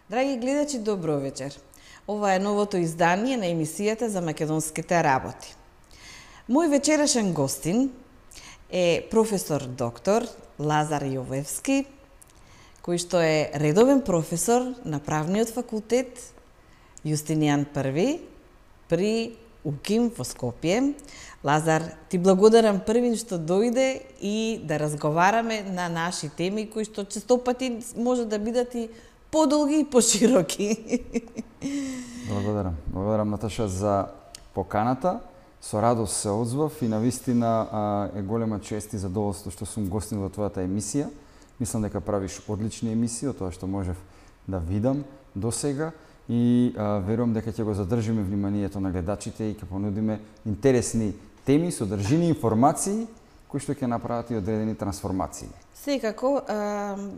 Драги гледачи, добро вечер. Ова е новото издание на емисијата за македонските работи. Мој вечерашен гостин е професор доктор Лазар Јовевски, кој што е редовен професор на Правниот факултет Јустинијан I при УКИМ во Скопје. Лазар, ти благодарам првин што дојде и да разговараме на наши теми кои што често пати може да бидат и подолги и пошироки. Благодарам Наташа за поканата. Со радост се одзвав и навистина е голема чест и задоволство што сум гостин во твојата емисија. Мислам дека правиш одлични емисии, од тоа што можев да видам досега и верувам дека ќе го задржиме вниманието на гледачите и ќе понудиме интересни теми, содржини, информации кои што ќе направат и одредени трансформации. Секако,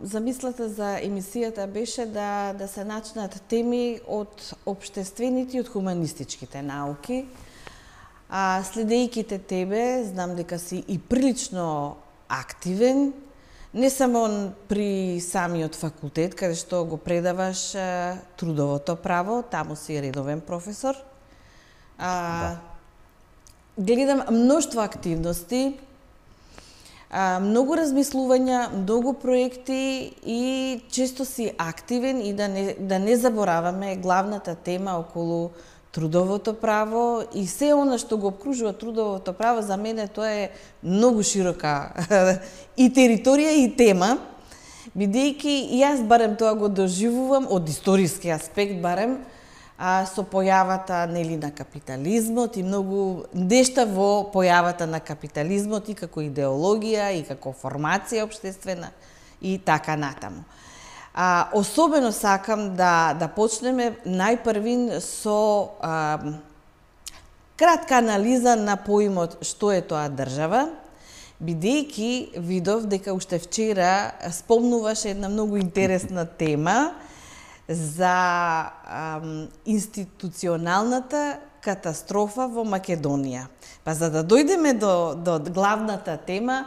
замислата за емисијата беше да се начнат теми од општествените и од хуманистичките науки. Следејќи те тебе, знам дека си и прилично активен, не само при самиот факултет, каде што го предаваш трудовото право, таму си редовен професор. Гледам множество активности, многу размислувања, многу проекти и често си активен и да не забораваме главната тема околу трудовото право и се она што го обкружува трудовото право. За мене тоа е многу широка и територија и тема, бидејќи јас барем тоа го доживувам од историски аспект барем, со појавата на капитализмот и многу нешта во појавата на капитализмот и како идеологија и како формација општествена и така натаму. Особено сакам да почнеме најпрвин со кратка анализа на поимот што е тоа држава, бидејќи видов дека уште вчера спомнуваше една многу интересна тема за институционалната катастрофа во Македонија. Па за да дојдеме до главната тема,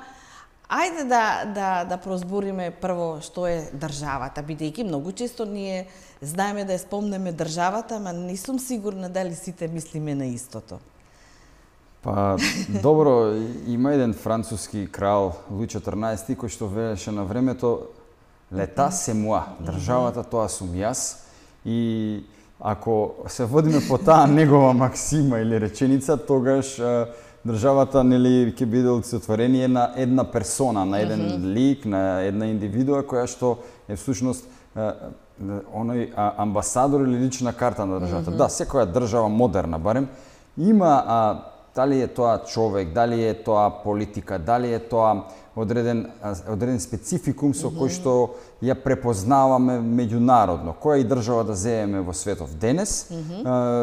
ајде да прозбориме прво што е државата, бидејќи многу често ние знаеме да ја спомнеме државата, ама не сум сигурна дали сите мислиме на истото. Па, добро, има еден француски крал, Луи 14, кој што велеше на времето Лета се муа, државата тоа сум јас, и ако се водиме по таа негова максима или реченица, тогаш државата ќе биде олицетворение на една персона, на еден лик, на една индивидуа која што е всушност оној амбасадор или лична карта на државата. Да, секоја држава модерна барем има дали е тоа човек, дали е тоа политика, дали е тоа одреден спецификум со кој што ја препознаваме меѓународно. Која и држава да земеме во светов денес,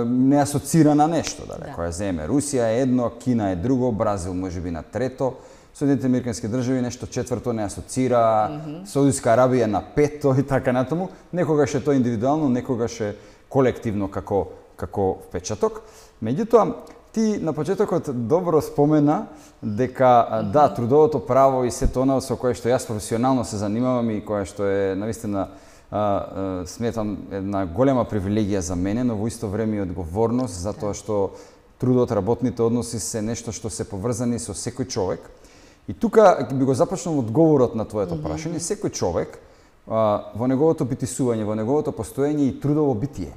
не асоцира на нешто. Која земеме Русија е едно, Кина е друго, Бразил можеби на трето, Соединените американски држави нешто четврто не асоцира, Саудиска Арабија на пето и така натаму. Некогаш е тоа индивидуално, некогаш е колективно како впечаток. Меѓутоа, ти на почетокот добро спомена дека да, трудовото право и сето она со кое што јас професионално се занимавам и кое што е навистина сметам една голема привилегија за мене, но во исто време и одговорност, затоа што трудот, работните односи се нешто што се поврзани со секој човек. И тука би го започнал одговорот на твоето прашање. Секој човек во неговото битисување, во неговото постоење и трудово битие.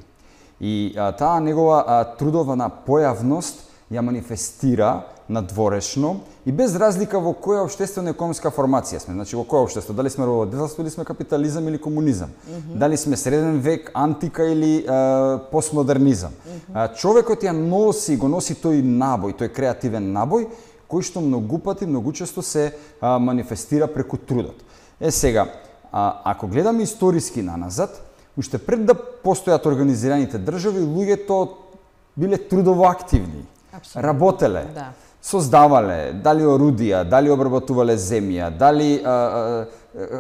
И таа негова трудовна појавност ја манифестира надворешно и без разлика во која општествено-економска формација сме. Значи, во која општество? Дали сме рободелство или сме капитализам или комунизам? Дали сме среден век, антика или постмодернизам? Човекот ја го носи тој набој, тој креативен набој, кој што многу пати, многу често се манифестира преку трудот. Сега, ако гледаме историски наназад, уште пред да постојат организираните држави, луѓето биле трудово активни, работеле. создавале, дали орудија, дали обработувале земја, дали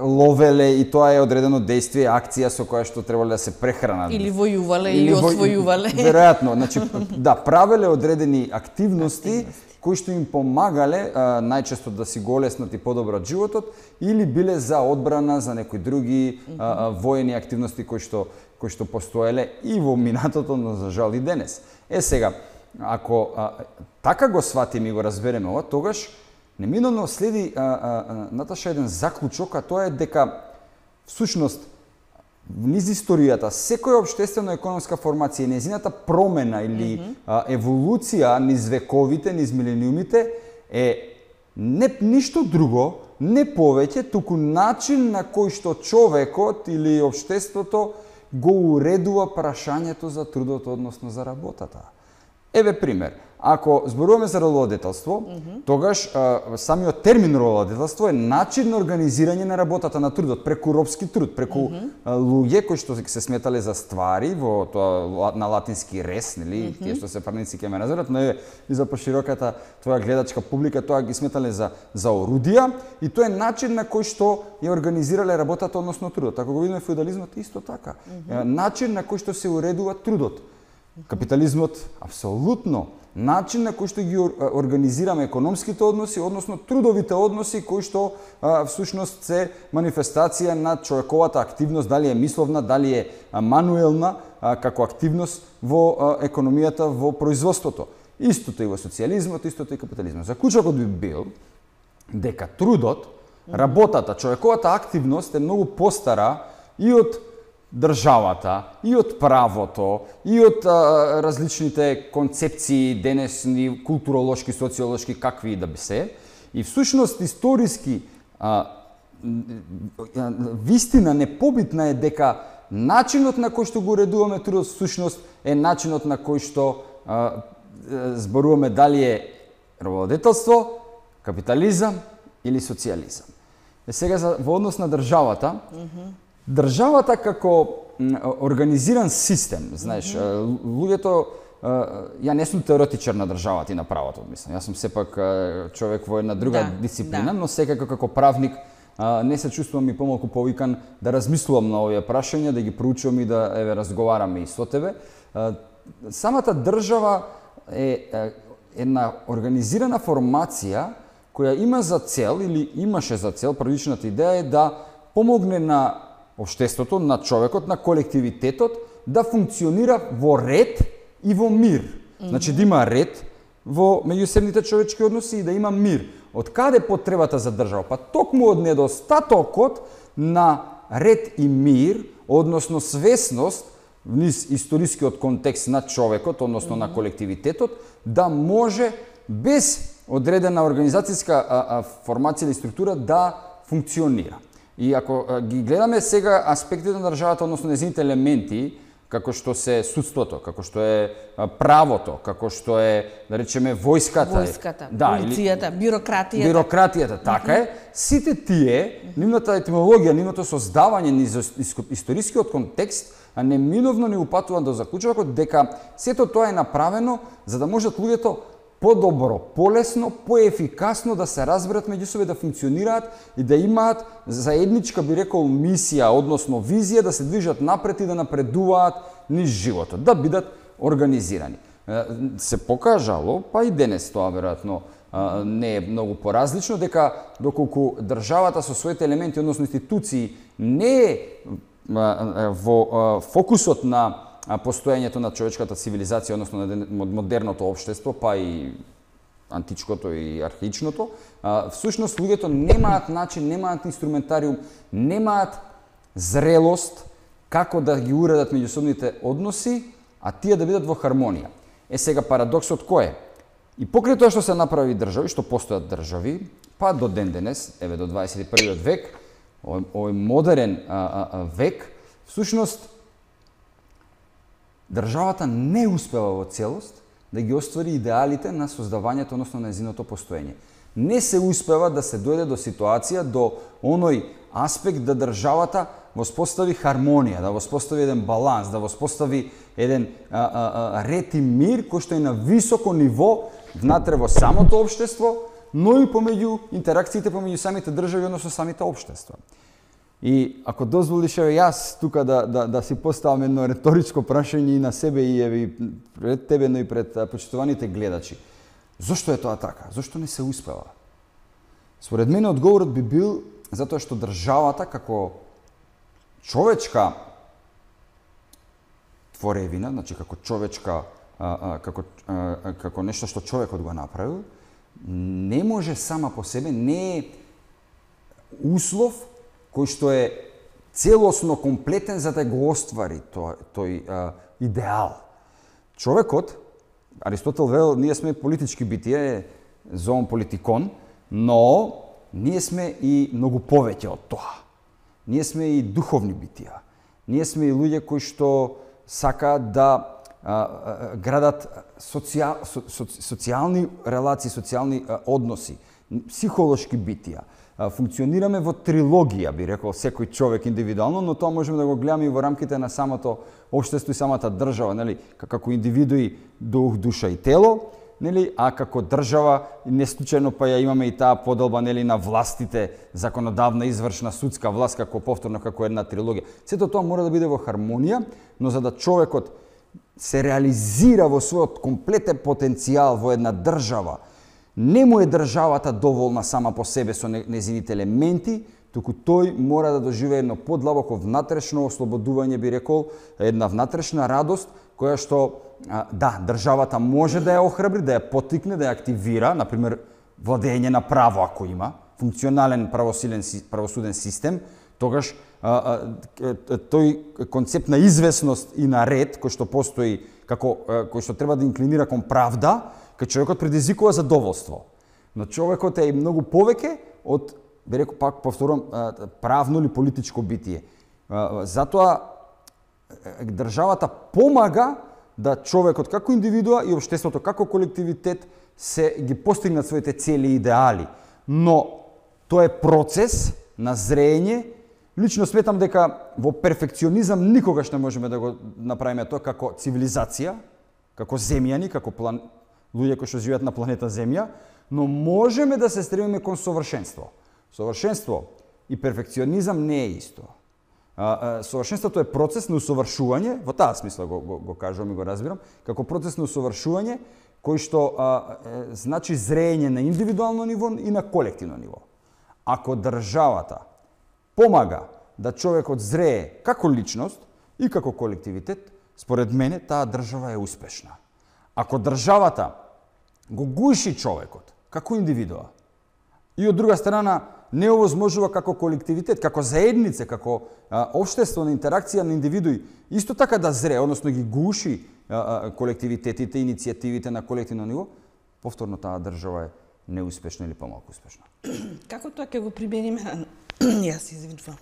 ловеле, и тоа е одредено действие, акција со која што требале да се прехранат. Или војувале, или освојувале. Веројатно, значи, да, правеле одредени активности кои што им помагале најчесто да си го олеснат и подобрат животот, или биле за одбрана, за некои други воени активности кои што постоеле и во минатото, но за жал и денес. Сега, ако така го сватиме и го разбереме ова, тогаш неминовно следи Наташа еден заклучок, а тоа е дека всушност низ историјата секоја општествено-економска формација и незината промена или еволуција низ вековите, низ милениумите е ништо друго, не повеќе, туку начин на кој што човекот или општеството го уредува прашањето за трудот, односно за работата. Еве пример. Ако зборуваме за рододетелство, тогаш самиот термин рододетелство е начин на организирање на работата на трудот, преку робски труд, преку луѓе кои што се сметале за ствари во тоа на латински рес, нели, тие што се правници ќе ме разберат, но и за пошироката твоја гледачка публика тоа ги сметале за орудија, и тоа е начин на кој што ја организирале работата, односно трудот. Ако го видиме феудализмот, исто така. Начин на кој што се уредува трудот. Капитализмот апсолутно начин на кој што ги организираме економските односи, односно трудовите односи кои што всушност се манифестација на човековата активност, дали е мисловна, дали е мануелна како активност во економијата, во производството. Истото и во социјализмот, истото и капитализмот. Заклучокот би бил дека трудот, работата, човековата активност е многу постара и од државата, и од правото, и од различните концепции, денесни, културолошки, социолошки, какви и да би се. И всушност историски вистина непобитна е дека начинот на кој што го уредуваме трудот всушност е начинот на кој што зборуваме дали е работодетелство, капитализам или социјализам. Сега во однос на државата, државата како организиран систем, знаеш, луѓето, ја не сум теоретичар на државата и на правото, мислам. Јас сум сепак човек во една друга дисциплина, но секако како правник не се чувствувам и помалку повикан да размислувам на овие прашања, да ги проучувам и да разговараме и со тебе. Самата држава е една организирана формација која има за цел или имаше за цел, првичната идеја е да помогне на општеството, на човекот, на колективитетот да функционира во ред и во мир. Значи да има ред во меѓусебните човечки односи и да има мир. Од каде потребата за држава? Па токму од недостатокот на ред и мир, односно свесност низ историскиот контекст на човекот, односно на колективитетот, да може без одредена организацијска формација или структура да функционира. И ако ги гледаме сега аспектите на државата, односно незините елементи, како што се судството, како што е правото, како што е, да речеме, војската, полицијата, бирократијата, така е, сите тие, нивната етимологија, нивното создавање низ историскиот контекст, неминовно ни упатува до заклучокот дека сето тоа е направено за да можат луѓето подобро, полесно, поефикасно да се разберат меѓу себе, да функционираат и да имаат заедничка, би рекол, мисија, односно визија, да се движат напред и да напредуваат низ животот, да бидат организирани. Се покажало, па и денес тоа веројатно не е многу поразлично, дека доколку државата со своите елементи, односно институции, не е во фокусот на постоењето на човечката цивилизација, односно на модерното општество, па и античкото и архаичното, всушност луѓето немаат начин, немаат инструментариум, немаат зрелост како да ги уредат меѓусобните односи, а тие да бидат во хармонија. Сега парадоксот кој е? И покрај тоа што се направи држави, што постојат држави, па до ден денес, еве до 21 век, овој модерен век, всушност државата не успева во целост да ги оствари идеалите на создавањето, односно на незиното постоење. Не се успева да се дојде до ситуација, до оној аспект да државата воспостави хармонија, да воспостави еден баланс, да воспостави еден ред и мир кој што е на високо ниво внатре во самото општество, но и помеѓу интеракциите помеѓу самите држави, односно самите општества. И ако дозволиш јас тука да си поставам едно реторичко прашање и на себе и пред тебе, но и пред почитуваните гледачи. Зошто е тоа така? Зошто не се успела? Според мене одговорот би бил затоа што државата како човечка творевина, значи како човечка како нешто што човекот го направил, не може сама по себе, не е услов кој што е целосно комплетен за да го оствари тој идеал. Човекот, Аристотел вел, ние сме политички битија, зоон политикон, но ние сме и многу повеќе од тоа. Ние сме и духовни битија. Ние сме и луѓе кои што сакаат да градат социјални релации, социјални односи, психолошки битија. Функционираме во трилогија, би рекол, секој човек индивидуално, но тоа можеме да го гледаме и во рамките на самото општество и самата држава, нели, како индивидуи, дух, душа и тело, нели, а како држава не случајно па ја имаме и таа поделба, нели, на властите, законодавна, извршна, судска власт како повторно како една трилогија. Сето тоа мора да биде во хармонија, но за да човекот се реализира во својот комплетен потенцијал во една држава, не му е државата доволна сама по себе со незините елементи, туку тој мора да доживее едно подлабоко внатрешно ослободување, би рекол, една внатрешна радост, која што, да, државата може да ја охрабри, да ја поттикне, да ја активира, например, владење на право ако има, функционален правосуден систем, тогаш тој концепт на известност и на ред, кој што постои, кој што треба да инклинира кон правда, кај човекот предизвикува задоволство. Но човекот е и многу повеќе од, би рекол, пак повторувам, правно или политичко битие. Затоа државата помага да човекот како индивидуа и општеството како колективитет се ги постигнат своите цели и идеали. Но тоа е процес на зрење. Лично сметам дека во перфекционизам никогаш не можеме да го направиме тоа како цивилизација, како земјани, како луѓе кои што живеат на планета Земја, но можеме да се стремиме кон совршенство. Совршенство и перфекционизам не е исто. Совршенството е процес на усовршување, во таа смисла го кажувам и го разбирам, како процес на усовршување кој што значи зрење на индивидуално ниво и на колективно ниво. Ако државата помага да човекот зрее како личност и како колективитет, според мене таа држава е успешна. Ако државата го гуши човекот како индивидуа и од друга страна не овозможува како колективитет, како заедница, како општествена интеракција на индивидуи, исто така да зрее, односно ги гуши колективитетите, иницијативите на колективно ниво, повторно таа држава е неуспешна или помалку успешна. Како тоа ќе го примениме? Јас извинувам.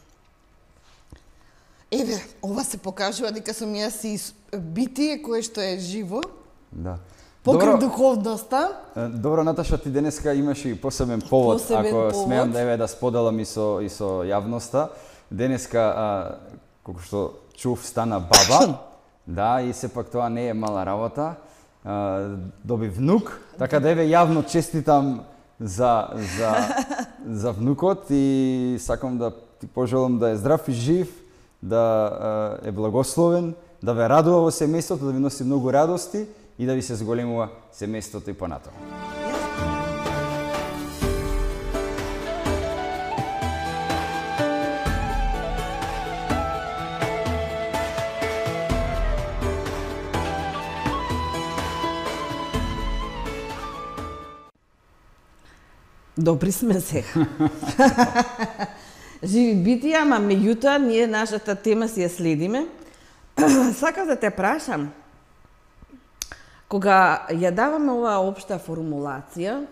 Еве, ова се покажува дека сум јас и битие кое што е живо. Да. Покрај духовноста. Добро, Наташа, ти денеска имаш и посебен повод, ако смеам да споделам и со јавноста. Денеска, колку што чув, стана баба. Да, и сепак тоа не е мала работа. Доби внук, така да еве јавно честитам за внукот и сакам да ти пожелам да е здрав и жив, да е благословен, да ве радува во семејството, да ви носи многу радости и да ви се зголемува семејството и понатаму. Добри сме сега. Живи битија, ама меѓутоа ние нашата тема си ја следиме. Сакам да те прашам, кога ја даваме оваа општа формулација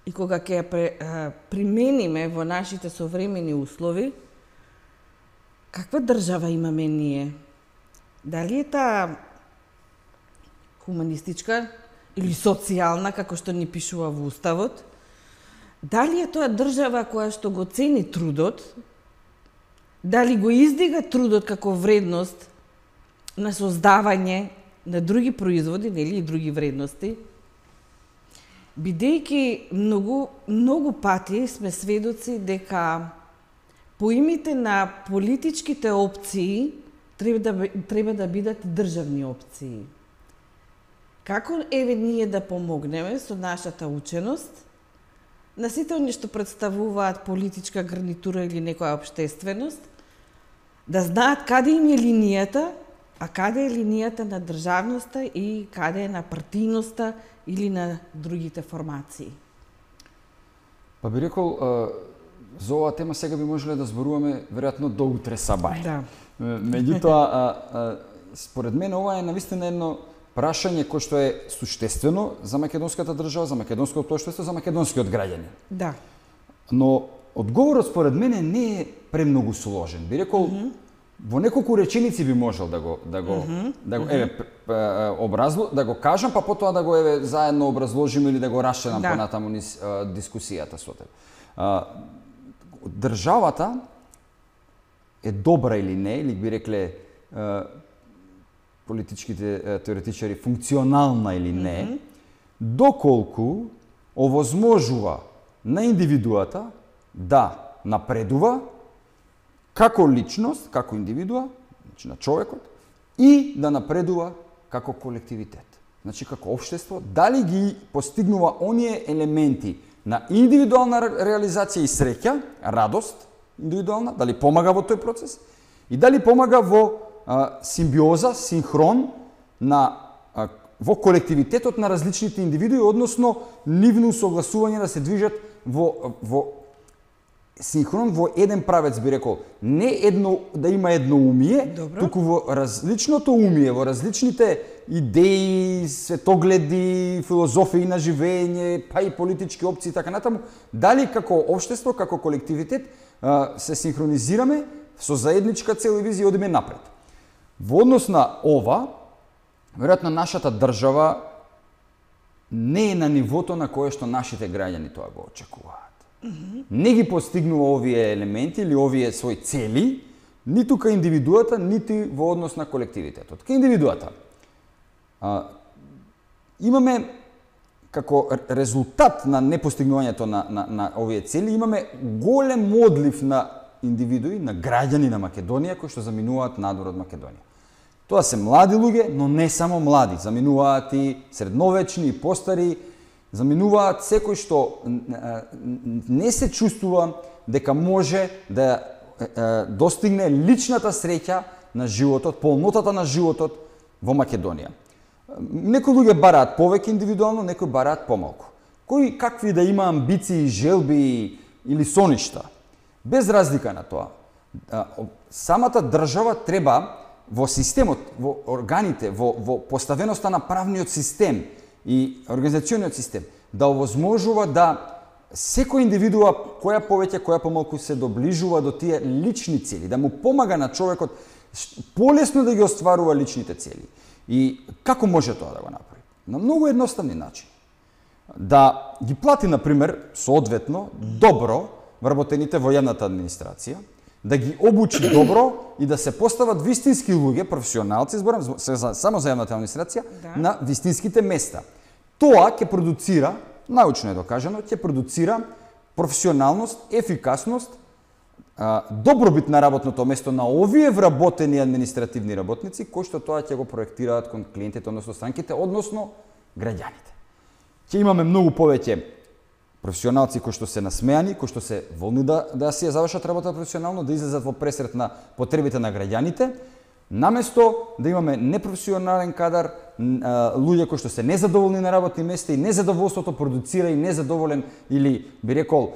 и кога ќе ја примениме во нашите современи услови, каква држава имаме ние? Дали е таа хуманистичка или социјална, како што ни пишува во Уставот? Дали е тоа држава која што го цени трудот? Дали го издига трудот како вредност на создавање на други производи, нели, и други вредности? бидејќи многу пати сме сведоци дека поимите на политичките опции треба да бидат државни опции. Како ние да помогнеме со нашата ученост на сите оние што представуваат политичка гарнитура или некоја општественост, да знаат каде им е линијата, а каде е линијата на државноста и каде е на партијноста или на другите формации? Па би рекол, за оваа тема сега би можеле да зборуваме веројатно до утре сабај. Да. Меѓутоа, според мене ова е навистина едно прашање кој што е суштествено за македонската држава, за македонското општество, за македонскиот граѓанин. Да. Но одговорот според мене не е премногу сложен. Би рекол, во неколку реченици би можел да го кажам, па потоа да го заедно образложиме или да го расчленам понатаму низ дискусијата со тебе. Државата е добра или не, или би рекле политичките теоретичари функционална или не, доколку овозможува на индивидуата да напредува како личност, како индивидуа, значи на човекот, и да напредува како колективитет. Значи како општество, дали ги постигнува оние елементи на индивидуална реализација и среќа, радост индивидуална, дали помага во тој процес и дали помага во симбиоза, синхрон во колективитетот на различните индивидуи, односно нивно согласување да се движат во синхрон во еден правец, би рекол, не едно да има едноумие, туку во различното умие, во различните идеи, светогледи, филозофии на живење, па и политички опции и така натаму, дали како општество, како колективитет се синхронизираме со заедничка цел и визија и одиме напред. Во однос на ова, веројатно нашата држава не е на нивото на кое што нашите граѓани тоа го очекуваат. Не ги постигнува овие елементи или овие своји цели, ниту кај индивидуата, ниту во однос на колективитетот. Кај индивидуата имаме како резултат на непостигнувањето на овие цели, имаме голем одлив на индивидуи, на граѓани на Македонија кои што заминуваат надвор од Македонија. Тоа се млади луѓе, но не само млади, заминуваат и средновечни, и постари, заминуваат секој што не се чувствува дека може да достигне личната среќа на животот, полнотата на животот во Македонија. Некои луѓе бараат повеќе индивидуално, некои бараат помалку. Кои какви да има амбиции, желби или соништа, без разлика на тоа, самата држава треба во системот, во органите, во поставеноста на правниот систем и организациониот систем, да овозможува да секој индивидуа, која повеќе, која помалку се доближува до тие лични цели, да му помага на човекот полесно да ги остварува личните цели. И како може тоа да го направи? На многу едноставни начини. Да ги плати, например, соодветно, добро вработените во јавната администрација, да ги обучи добро и да се постават вистински луѓе, професионалци, зборам само за јавната администрација, на вистинските места. Тоа ќе продуцира, научно е докажано, ќе продуцира професионалност, ефикасност, добробит на работното место на овие вработени административни работници, кои што тоа ќе го проектираат кон клиентите, односно странките, односно граѓаните. Ќе имаме многу повеќе професионалци кои што се насмеани, кои што се волни да си ја завршат работа професионално, да излезат во пресрет на потребите на граѓаните, наместо да имаме непрофесионален кадар, луѓе кои што се незадоволни на работни места и незадоволството продуцира и незадоволен или би рекол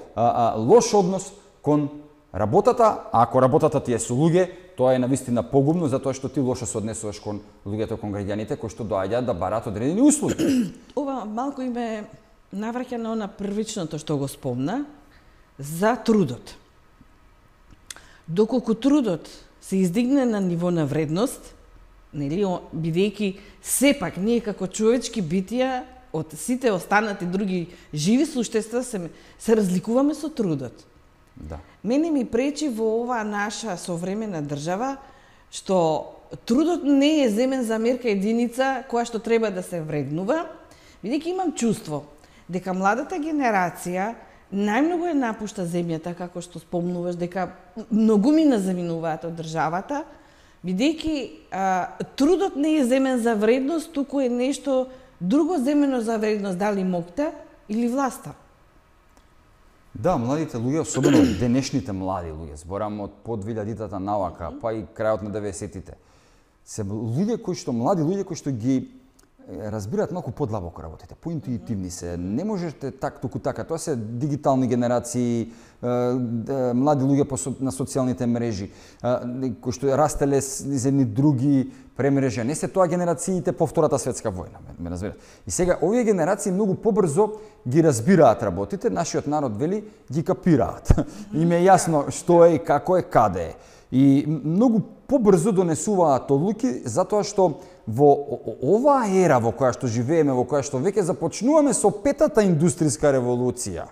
лош однос кон работата, а ако работата ти е со луѓе, тоа е навистина погубно затоа што ти лошо се однесуваш кон луѓето, кон граѓаните кои што доаѓаат да бараат одредени услуги. Ова малку име навраќа на она првичното што го спомна за трудот. Доколку трудот се издигне на ниво на вредност, нели, бидејќи сепак ние како човечки битија од сите останати други живи суштества се разликуваме со трудот. Да. Мене ми пречи во оваа наша современа држава што трудот не е земен за мерка единица која што треба да се вреднува, бидејќи имам чувство дека младата генерација најмногу е напушта земјата, како што спомнуваш, дека многумина заминуваат од државата, бидејќи трудот не е земен за вредност, туку е нешто друго земено за вредност, дали мокта или власта. Да, младите луѓе, особено денешните млади луѓе, зборам од по 2000-тата навака, па и крајот на 90-тите, се млади луѓе кои што ги разбираат малку подлабоко работите, поинтуитивни се, не можете туку така, тоа се дигитални генерации, млади луѓе на социјалните мрежи, кои што растеле из едни други премрежа, не се тоа генерациите по Втората светска војна, ме разбирате. И сега овие генерации многу побрзо ги разбираат работите, нашиот народ вели ги капираат. Им е јасно што е и како е, каде е. И многу побрзо донесуваат одлуки затоа што во оваа ера во која што живееме, во која што веќе започнуваме со петата индустријска револуција,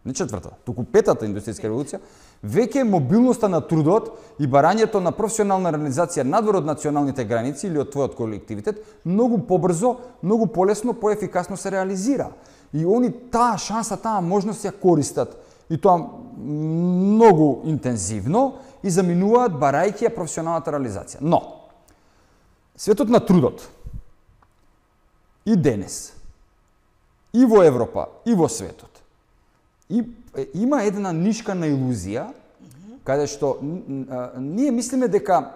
не четврта, туку петата индустријска револуција, веќе мобилноста на трудот и барањето на професионална реализација надвор од националните граници или од твојот колективитет многу побрзо, многу полесно, поефикасно се реализира. И они таа шанса, таа можност ја користат и тоа многу интензивно и заминуваат барајќи ја професионалната реализација. Но светот на трудот и денес, и во Европа, и во светот, има една нишкана илузија, каде што ние мислиме дека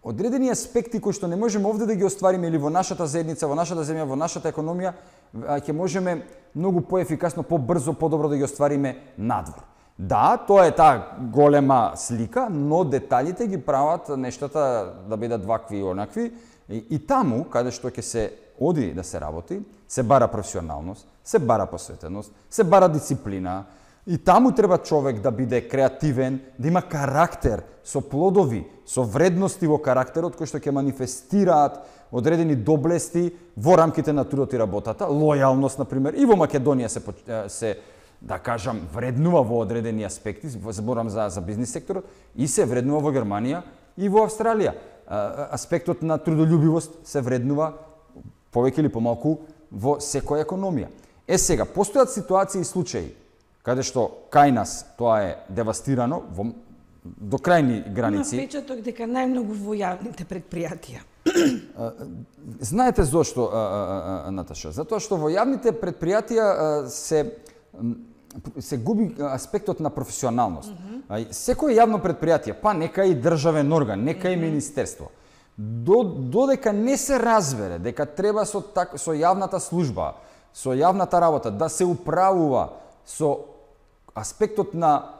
одредени аспекти кои што не можеме овде да ги оствариме или во нашата заедница, во нашата земја, во нашата економија, ќе можеме многу поефикасно, побрзо, подобро да ги оствариме надвор. Да, тоа е таа голема слика, но деталите ги прават нештата да бидат вакви и онакви. И таму, каде што ќе се оди да се работи, се бара професионалност, се бара посветеност, се бара дисциплина. И таму треба човек да биде креативен, да има карактер со плодови, со вредности во карактерот кои што ќе манифестираат одредени доблести во рамките на трудот и работата, лојалност, например, и во Македонија се да кажам, вреднува во одредени аспекти, зборам за бизнис секторот, и се вреднува во Германија и во Австралија. Аспектот на трудолюбивост се вреднува повеќе или помалку во секоја економија. Сега, постојат ситуации и случаи каде што кај нас тоа е девастирано до крајни граници. Има печаток дека најмногу во јавните предпријатија. Знаете зошто, Наташа? Затоа што во јавните предпријатија се губи аспектот на професионалност. Секој јавно предпријатие, па нека и државен орган, нека и министерство, додека не се разбере дека треба со јавната служба, со јавната работа да се управува со аспектот на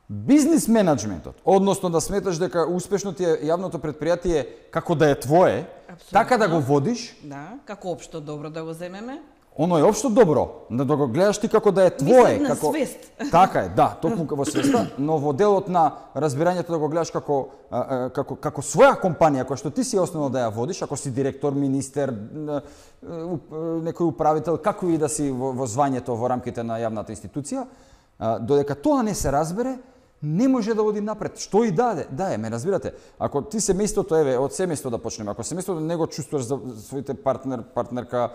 бизнис менеджментот, односно да сметаш дека успешно ти е јавното предпријатие како да е твое, така да го водиш. Да, како општо добро да го земеме. Оно е општо добро, да го гледаш ти како да е твое, како свест. Така е, да, токму во свеста, но во делот на разбирањето да го гледаш како своја компанија која што ти си основно да ја водиш, ако си директор, министер, некој управител, како и да си во звањето во рамките на јавната институција, додека тоа не се разбере, не може да оди напред. Што и да е, ме разбирате. Ако ти семејството, од семејство да почнеме, ако семејството не го чувствуваш за своите партнерка,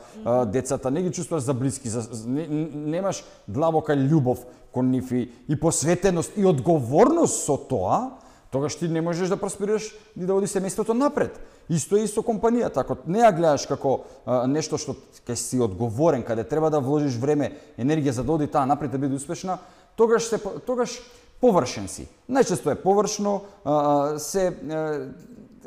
децата, не ги чувствуваш за блиски, немаш длабока љубов кон нив и посветеност и одговорност со тоа, тогаш ти не можеш да просперираш и да оди семејството напред. Исто и со компанијата. Ако не ја гледаш како нешто што ќе си одговорен, каде треба да вложиш време, енергија за да оди таа напред да биде успешна, тогаш површен си. Најчесто е површно,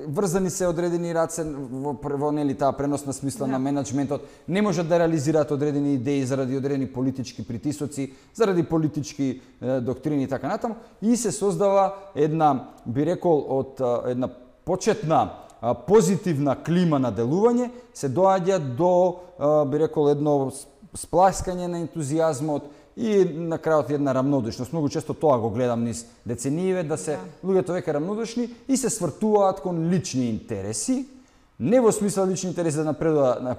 врзани се одредени раце во нели таа преносна смисла на менеджментот, не можат да реализираат одредени идеи заради одредени политички притисоци, заради политички доктрини и така натаму, и се создава една, би рекол, од една почетна позитивна клима на делување, се доаѓа до, би рекол, едно спласкање на ентузијазмот и на крајот една рамнодушност. Многу често тоа го гледам низ деценије, да се луѓето веќе рамнодушни и се свртуваат кон лични интереси, не во смисла лични интереси да напредува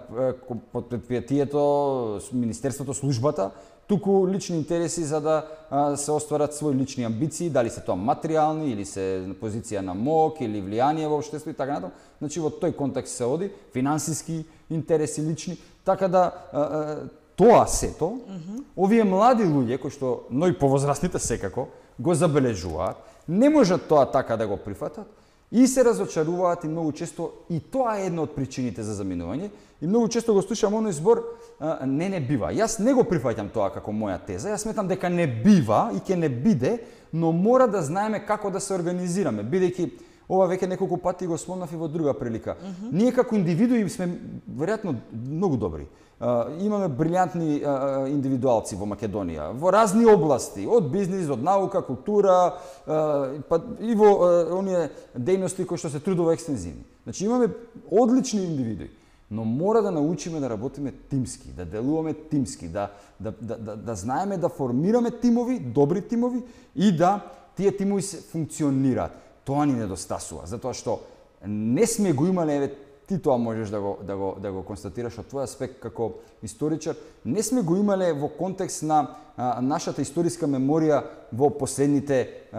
под предпријатието, министерството, службата, туку лични интереси за да се остварат своји лични амбиции, дали се тоа материјални или се на позиција на мок или влијание во општеството и така натаму. Значи во тој контекст се оди, финансиски интереси лични, така да тоа сето, овие млади луѓе, кои што, но и повозрастните секако, го забележуваат, не можат тоа така да го прифатат и се разочаруваат и многу често и тоа е една од причините за заминување и многу често го слушам оној збор не бива. Јас не го прифаќам тоа како моја теза, јас сметам дека не бива и ќе не биде, но мора да знаеме како да се организираме, бидејќи ова веќе неколку пати го спомнав и во друга прилика. Ние како индивидуи сме веројатно многу добри. Имаме брилјантни индивидуалци во Македонија, во разни области, од бизнис, од наука, култура, па и во оние дејности кои што се трудово екстензивни. Значи имаме одлични индивидуи, но мора да научиме да работиме тимски, да делуваме тимски, да знаеме да формираме тимови, добри тимови и да тие тимови се функционираат. Тоа ни недостасува, затоа што не сме го имале, еве ти тоа можеш да го констатираш од твој аспект како историчар, не сме го имале во контекст на нашата историска меморија во последните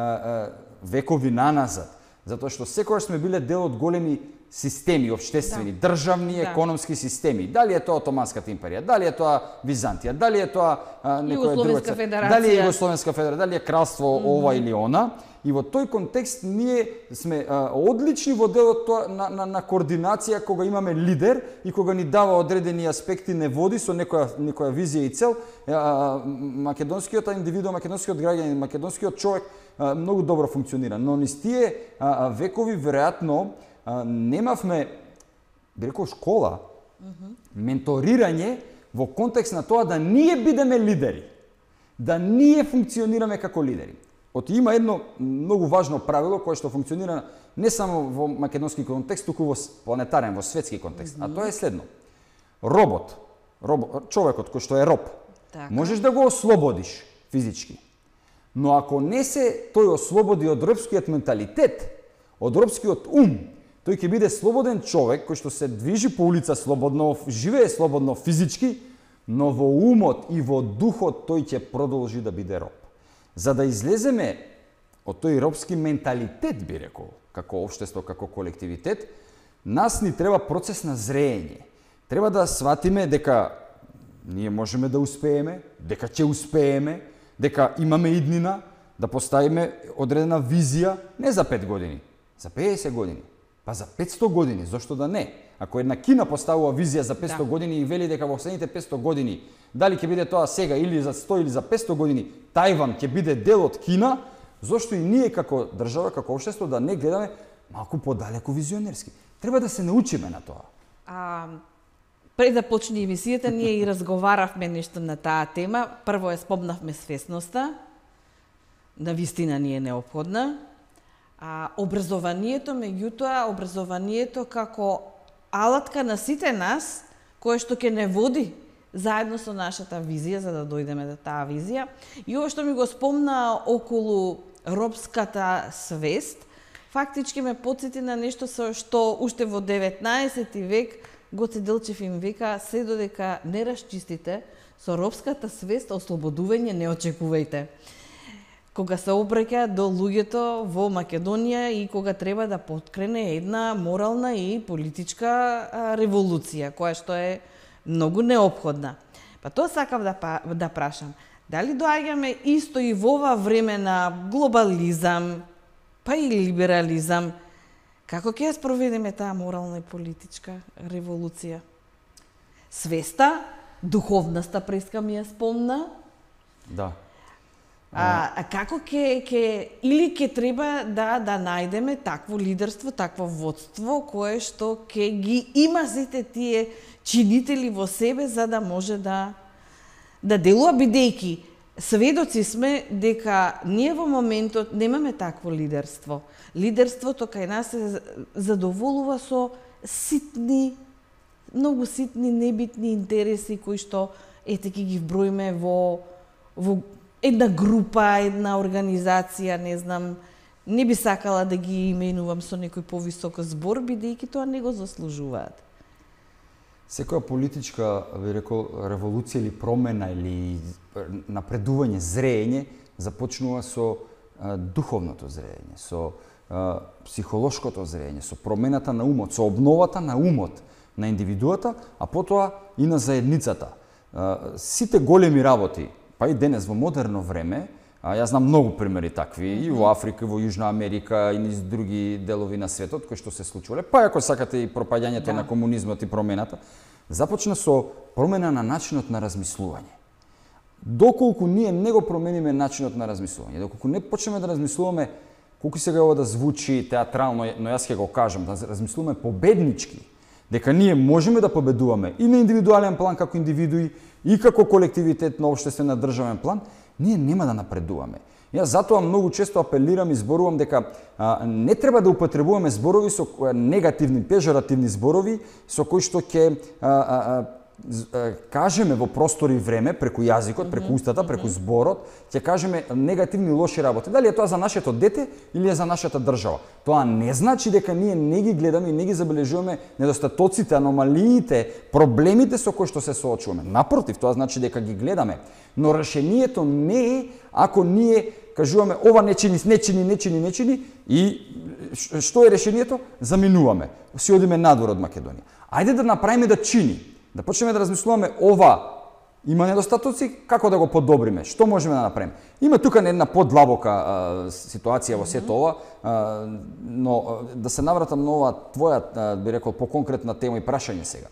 векови наназад, затоа што секогаш сме биле дел од големи системи општествени, државни, економски системи. Дали е тоа Отоманската империја, дали е тоа Византија, дали е тоа некоја друга, дали е Југословенска федерација, дали е кралство ова или она. И во тој контекст ние сме одлични во делот на координација кога имаме лидер и кога ни дава одредени аспекти, не води со некоја визија и цел. Македонскиот индивидуум, македонскиот граѓанин, македонскиот човек многу добро функционира, но низ тие векови веројатно немавме, би рекол, школа, менторирање во контекст на тоа да ние бидеме лидери, да ние функционираме како лидери. Има едно многу важно правило кое што функционира не само во македонски контекст, туку во планетарен, во светски контекст, а тоа е следно. Робот, човекот кој што е роб, можеш да го ослободиш физички, но ако не се тој ослободи од робскиот менталитет, од робскиот ум, тој ќе биде слободен човек кој што се движи по улица слободно, живее слободно физички, но во умот и во духот тој ќе продолжи да биде роб. За да излеземе од тој робски менталитет, би рекол, како општество, како колективитет, нас ни треба процес на зреење. Треба да сватиме дека ние можеме да успееме, дека ќе успееме, дека имаме иднина, да поставиме одредена визија не за 5 години, за 50 години, па за 500 години, зошто да не? Ако една Кина поставува визија за 500 години и вели дека во следните 500 години, дали ќе биде тоа сега или за 100 или за 500 години, Тајван ќе биде дел од Кина, зошто и ние како држава, како општество да не гледаме малку подалеку визионерски. Треба да се научиме на тоа. Пред да почне емисијата, ние и разговаравме нешто на таа тема. Прво спомнавме свесноста, на вистина ни е неопходна. Образованието, меѓутоа, образованието како алатка на сите нас, кое што ќе не води заедно со нашата визија, за да дојдеме до таа визија. И ова што ми го спомна околу робската свест, фактички ме потсети на нешто што уште во 19 век Гоце Делчев им вика: се додека не расчистите со робската свест, ослободување не очекувајте. Кога се обраќа до луѓето во Македонија и кога треба да поткрене една морална и политичка револуција, која што е многу неопходна. Па тоа сакав да прашам. Дали доаѓаме исто и во ова време на глобализам, па и либерализам, како ќе ја спроведеме таа морална и политичка револуција? Свеста, духовноста преска ми ја спомна. Да. Како или ќе треба да најдеме такво лидерство, такво водство кое што ќе ги има сите тие чинители во себе за да може да делува, бидејќи сведоци сме дека ние во моментот немаме такво лидерство. Лидерството кај нас се задоволува со ситни, многу ситни, небитни интереси кои што ете ќе ги вброиме во една група, една организација, не знам, не би сакала да ги именувам со некој повисок збор, бидејќи тоа не го заслужуваат. Секоја политичка, би рекол, револуција или промена или напредување, зреење, започнува со духовното зреење, со психолошкото зреење, со промената на умот, со обновата на умот на индивидуата, а потоа и на заедницата. Сите големи работи, па и денес во модерно време, јас знам многу примери такви и во Африка, и во Јужна Америка и низ други делови на светот кои што се случувале, па ако сакате и пропаѓањето на комунизмот и промената, започна со промена на начинот на размислување. Доколку ние не го промениме начинот на размислување, доколку не почнеме да размислуваме, колку сега ова да звучи театрално, но јас ќе го кажам, да размислуваме победнички, дека ние можеме да победуваме и на индивидуален план како индивидуи, и како колективитет на општествен на државен план, ние нема да напредуваме. Јас затоа многу често апелирам и зборувам дека не треба да употребуваме зборови со негативни, пежоративни зборови со кои што ќе кажеме во простор и време, преку јазикот, преку устата, преку зборот, ќе кажеме негативни лоши работи. Дали е тоа за нашето дете или е за нашата држава? Тоа не значи дека ние не ги гледаме и не ги забележуваме недостатоците, аномалиите, проблемите со кои што се соочуваме. Напротив, тоа значи дека ги гледаме. Но решението не е ако ние кажуваме ова не чини и што е решението? Заминуваме. Си одиме надвор од Македонија. Ајде да направиме да чини. Да почнеме да размислуваме ова има недостатоци, како да го подобриме, што можеме да направиме. Има тука една подлабока ситуација во сето ова, но да се навратам на ова твоја, би рекол, поконкретна тема и прашање сега.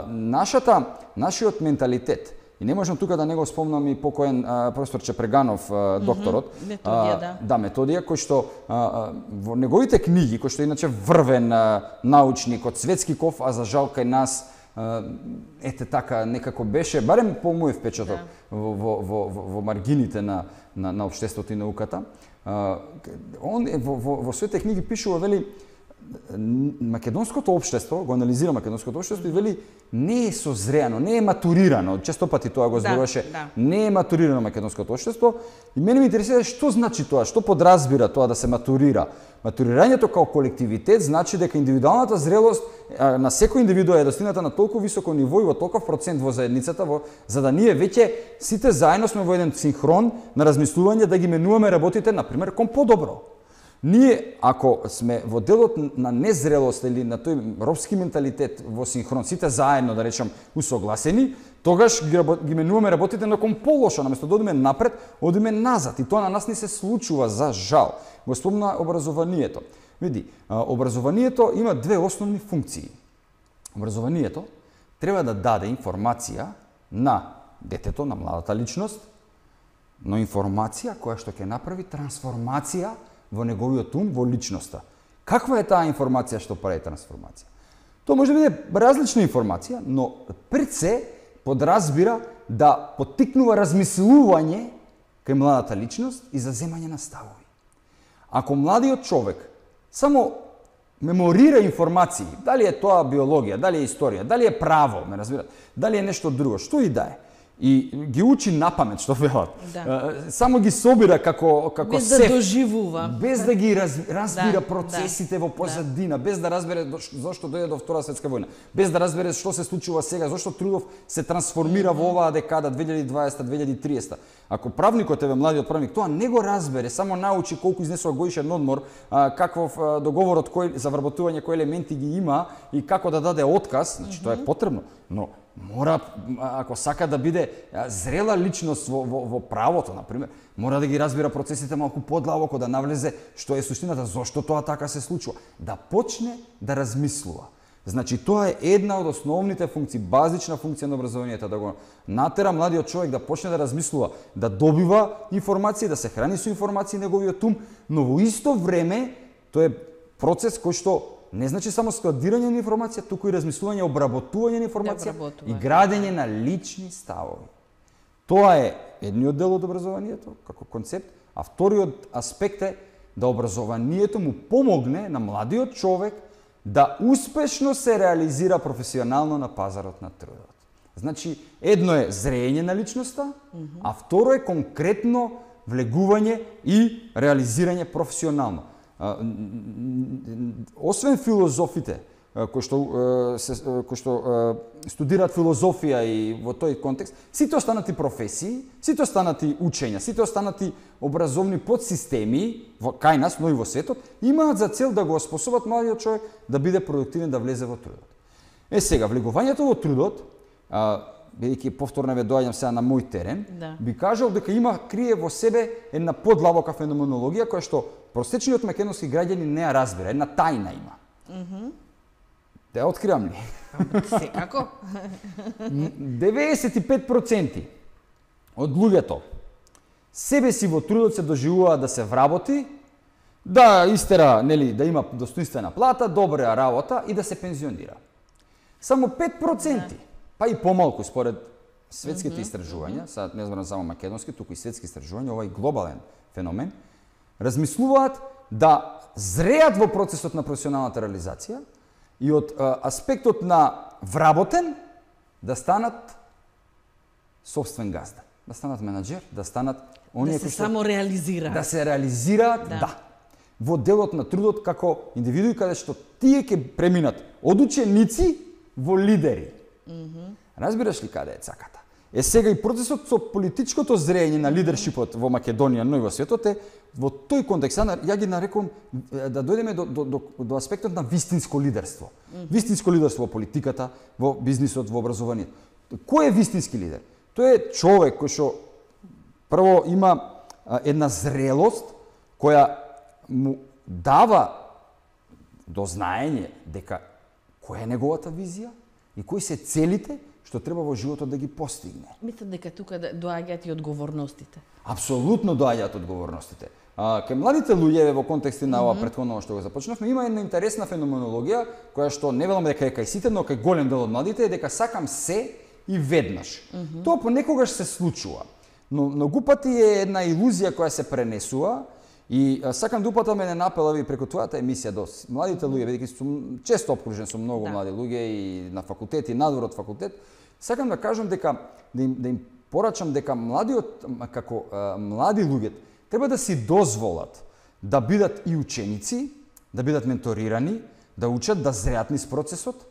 Нашиот менталитет, и не можам тука да не го спомнам и покоен професор Чепреганов, докторот, Методија, Методија, кој што во неговите книги, кој што иначе врвен научник од Светскиков, а за жал кај нас ете така некако беше, барем по мој впечаток во маргините на општеството и науката. Он во своите книги пишува, вели, македонското општество, го анализира македонското општество и вели не е созреано, не е матурирано, често пати тоа го зборуваше, не е матурирано македонското општество и мене ме интересира што значи тоа, што подразбира тоа да се матурира. Матурирањето као колективитет значи дека индивидуалната зрелост на секој индивидуа е достигната на толку високо ниво и во толков процент во заедницата, за да ние веќе сите заедно сме во еден синхрон на размислување да ги менуваме работите, например, кон подобро. Ние, ако сме во делот на незрелост или на тој робски менталитет во синхрон, сите заедно, да речам, усогласени, тогаш ги менуваме работите на кон полошо, наместо да одиме напред, одиме назад. И тоа на нас не се случува, за жал. Го спомна образованието. Види, образованието има две основни функции. Образованието треба да даде информација на детето, на младата личност, но информација која што ќе направи трансформација во неговиот ум, во личноста. Каква е таа информација што прави трансформација? Тоа може да биде различна информација, но пред се подразбира да поттикнува размислување кај младата личност и за земање на ставови. Ако младиот човек само меморира информации, дали е тоа биологија, дали е историја, дали е право, ме разбирате, дали е нешто друго, што и да е, и ги учи напамет, што велат. Само ги собира како без да доживува, без да ги разбира процесите во позадина, без да разбере зошто дојде до Втора светска војна, без да разбере што се случува сега, зошто трудов се трансформира во оваа декада 2020-2030. Ако правникот младиот правник тоа не го разбере, само научи колку изнесува годишен одмор, каков договорот за вработување кои елементи ги има и како да даде отказ, значи тоа е потребно, но мора, ако сака да биде зрела личност во правото, например, мора да ги разбира процесите малку подлабоко, да навлезе што е суштината, зошто тоа така се случува, да почне да размислува. Значи, тоа е една од основните функции, базична функција на образованието, да го натера младиот човек да почне да размислува, да добива информации, да се храни со информации неговиот ум, но во исто време тоа е процес кој што не значи само складирање на информација, туку и размислување, обработување на информација и градење на лични ставови. Тоа е едниот дел од образованието како концепт, а вториот аспект е да образованието му помогне на младиот човек да успешно се реализира професионално на пазарот на трудот. Значи, едно е зрење на личноста, а второ е конкретно влегување и реализирање професионално. Освен филозофите кои што студираат филозофија и во тој контекст, сите останати професии, сите останати учења, сите останати образовни подсистеми кај нас, но и во светот, имаат за цел да го способат младиот човек да биде продуктивен, да влезе во трудот. Сега, влегувањето во трудот бидејќи повторно ве доаѓам сега на мој терен, Да. би кажал дека крие во себе една подлабока феноменологија која што просечниот македонски граѓани не ја разбира, една тајна има. Те ја откривам ли? Секако. 95% од луѓето себе си во трудот се доживуваат да се вработи, да истера, нели, да има достоинствена плата, добра работа и да се пензионира. Само 5%, па и помалку според светските истражувања, сега не зборам само македонски, туку и светски истражувања, овај глобален феномен, размислуваат да зреат во процесот на професионалната реализација и од аспектот на вработен да станат собствен газда, да станат менаџер, да станат оние Да се само реализираат. да се реализираат, да, во делот на трудот како индивидуи каде што тие ќе преминат од ученици во лидери. Разбираш ли каде е цаката? Сега и процесот со политичкото зрење на лидершипот во Македонија, но и во светот е во тој контекст. Ја ги нарекувам да дојдеме до аспектот на вистинско лидерство. Вистинско лидерство во политиката, во бизнисот, во образованието. Кој е вистински лидер? Тој е човек кој што прво има една зрелост која му дава до знаење дека која е неговата визија и кои се целите што треба во животот да ги постигне. Мислам дека тука доаѓаат и одговорностите. Апсолутно доаѓаат одговорностите. Кај младите луѓе во контексти на ова претходно што го започнавме, има една интересна феноменологија која што не велам дека е кај сите, но кај голем дел од младите е дека сакам се и веднаш. Тоа понекогаш се случува, но многу пати е една илузија која се пренесува. И сакам да упатам еден апел ви преку твојата емисија до младите луѓе, бидејќи сум често обкружен со многу млади луѓе и на факултет и надвор од факултет, сакам да кажам дека да им порачам дека како млади луѓе треба да си дозволат да бидат и ученици, да бидат менторирани, да учат, да зреат низ процесот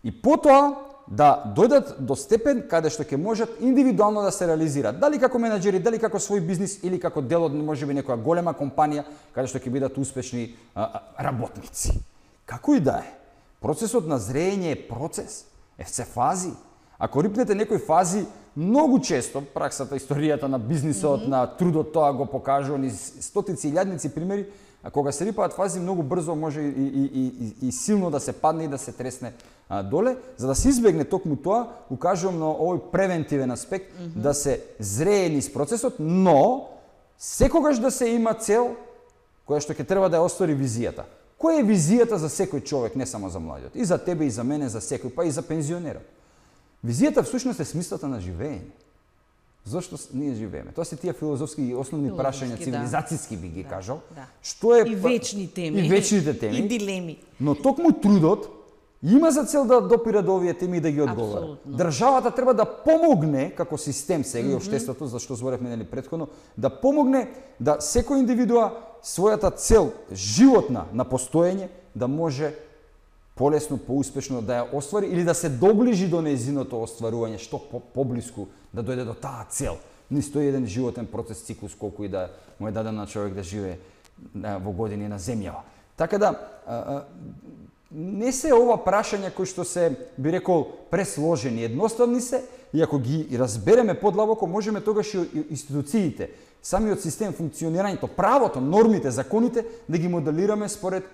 и потоа да дојдат до степен каде што ќе можат индивидуално да се реализираат. Дали како менаџери, дали како свој бизнис или како дел од можеби некоја голема компанија каде што ќе бидат успешни работници. Како и да е, процесот на зрење е процес, се фази. Ако рипнете некои фази, многу често праксата, историјата на бизнисот, на трудот, тоа го покажува низ стотици и илјадници примери, а кога се рипаат фази, многу брзо може и силно да се падне и да се тресне доле. За да се избегне токму тоа, укажувам на овој превентивен аспект, да се зрее низ процесот, но секогаш да се има цел која што ќе треба да ја оствари визијата. Која е визијата за секој човек, не само за младиот, и за тебе, и за мене, за секој, па и за пензионерот. Визијата всушност е смислата на живење. Зошто ние живееме? Тоа се тие филозофски и основни прашања, цивилизацијски би ги кажал. Што е и вечни теми. И вечните теми. И дилеми. Но токму трудот има за цел да допира до овие теми и да ги одговара. Апсолутно. Државата треба да помогне како систем сега и општеството, зашто зборевме нели претходно, да помогне да секој индивидуа својата цел животна на постоење да може полесно, поуспешно да ја оствари или да се доближи до нејзиното остварување, што поблиску да дојде до таа цел. Низ тој еден животен процес, циклус, колку и да му е даден на човек да живее во години на земјава. Така да, не се ова прашања кои што се, би рекол, пресложени, едноставни се, и ако ги разбереме подлабоко, можеме тогаш и институциите, самиот систем, функционирањето, правото, нормите, законите, да ги моделираме според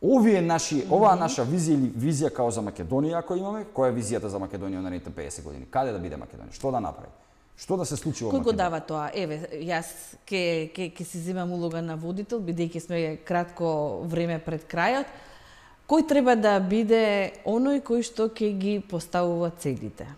оваа наша визија или визија као за Македонија, ако имаме, која е визијата за Македонија на наредните 50 години? Каде да биде Македонија? Што да направи? Што да се случи во Македонија? Кој го дава тоа? Еве, јас ќе си земам улога на водител, бидејќи сме кратко време пред крајот. Кој треба да биде оној кој што ќе ги поставува целите?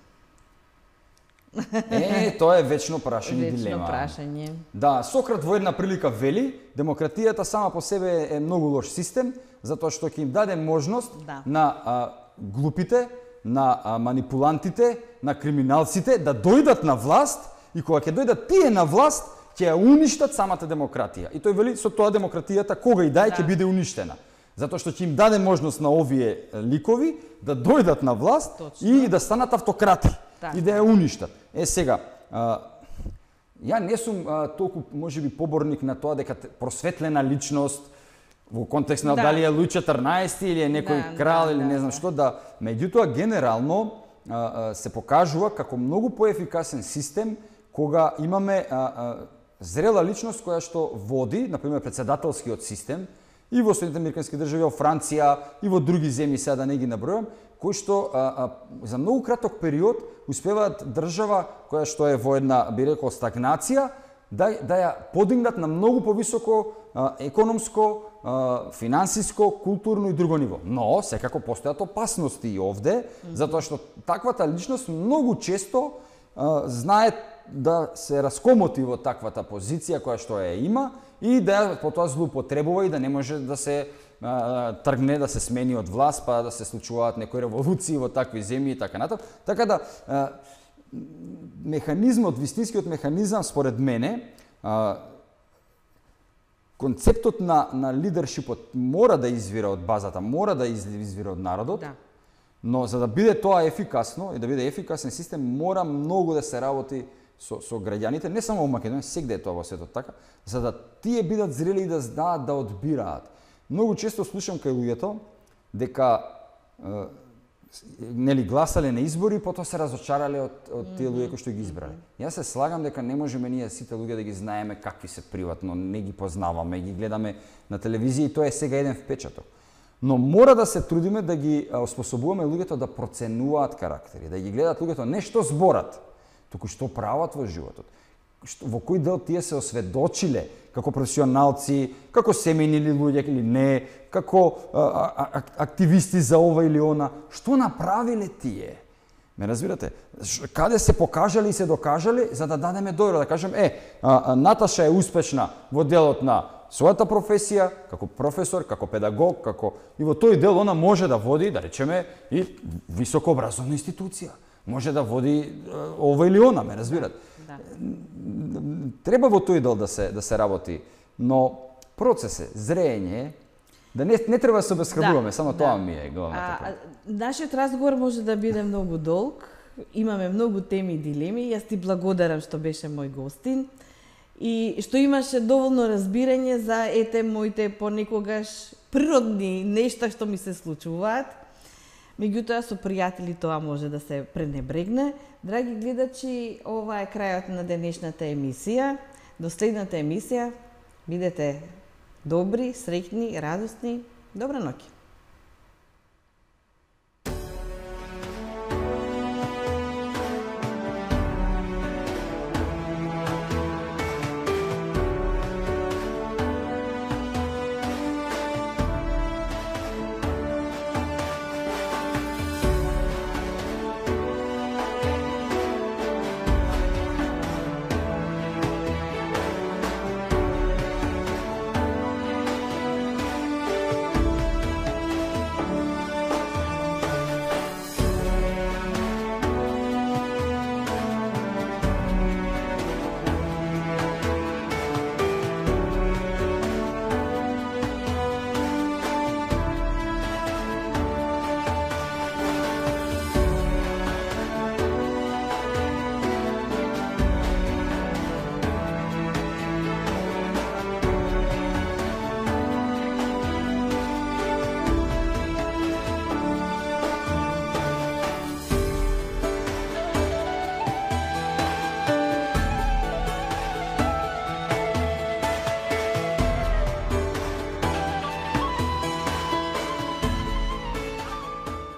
Тоа е вечно прашање, дилема. Вечно прашање. Да, Сократ во една прилика вели, демократијата сама по себе е многу лош систем, затоа што ќе им даде можност на глупите, на манипулантите, на криминалците да дојдат на власт и кога ќе дојдат тие на власт, ќе ја уништат самата демократија. И тој вели со тоа демократијата кога и да ќе биде уништена. Затоа што ќе им даде можност на овие ликови да дојдат на власт и да станат автократи и да ја уништат. Сега, ја не сум толку можеби поборник на тоа дека просветлена личност во контекст на дали е Луј 14 или е некој крал или не знам што, меѓутоа генерално се покажува како многу поефикасен систем кога имаме зрела личност која што води, например, председателскиот систем и во Соединетите американски држави, во Франција и во други земји, сега да не ги набројам, кои што за многу краток период успеваат држава која што е во една, би рекол, стагнација, да ја подигнат на многу повисоко економско, финансиско, културно и друго ниво. Но, секако постојат опасности и овде, затоа што таквата личност многу често знае да се раскомоти во таквата позиција која што ја има и да потоа злоупотребува и да не може да се тргне, да се смени од власт, па да се случуваат некои револуции во такви земји и така натаму. Така да механизмот, вистинскиот механизам според мене, концептот на лидершипот мора да извира од базата, мора да извира од народот. Да. Но за да биде тоа ефикасно и да биде ефикасен систем, мора многу да се работи со граѓаните, не само во Македонија, сегде е тоа во светот така, за да тие бидат зрели и да знаат да одбираат. Многу често слушам кај луѓето дека нели гласале на избори, потоа се разочарале од тие луѓе кои што ги избрале. Јас се слагам дека не можеме ние сите луѓе да ги знаеме какви се приватно, не ги познаваме, ги гледаме на телевизија и тоа е сега еден впечаток. Но мора да се трудиме да ги оспособуваме луѓето да проценуваат карактери, да ги гледат луѓето не што зборат, туку што прават во животот. Во кој дел тие се осведочиле како професионалци, како семејни луѓе или не, како активисти за ова или она, што направиле тие? Ме разбирате? Каде се покажале и се докажале за да дадеме дојро, да кажем, Наташа е успешна во делот на својата професија, како професор, како педагог, како и во тој дел она може да води, да речеме, и високообразовна институција. Може да води ова или она, ме разбирате? Да. Треба во тој дел да се работи, но процес е, зреење, да не треба да се обесхрабруваме, само тоа ми е главната проблема. Нашиот разговор може да биде многу долг, имаме многу теми и дилеми, јас ти благодарам што беше мој гостин и што имаше доволно разбирање за моите понекогаш природни нешта што ми се случуваат. Меѓутоа, со пријатели тоа може да се пренебрегне. Драги гледачи, ова е крајот на денешната емисија. До следната емисија, бидете добри, среќни, радосни. Добра ноќ.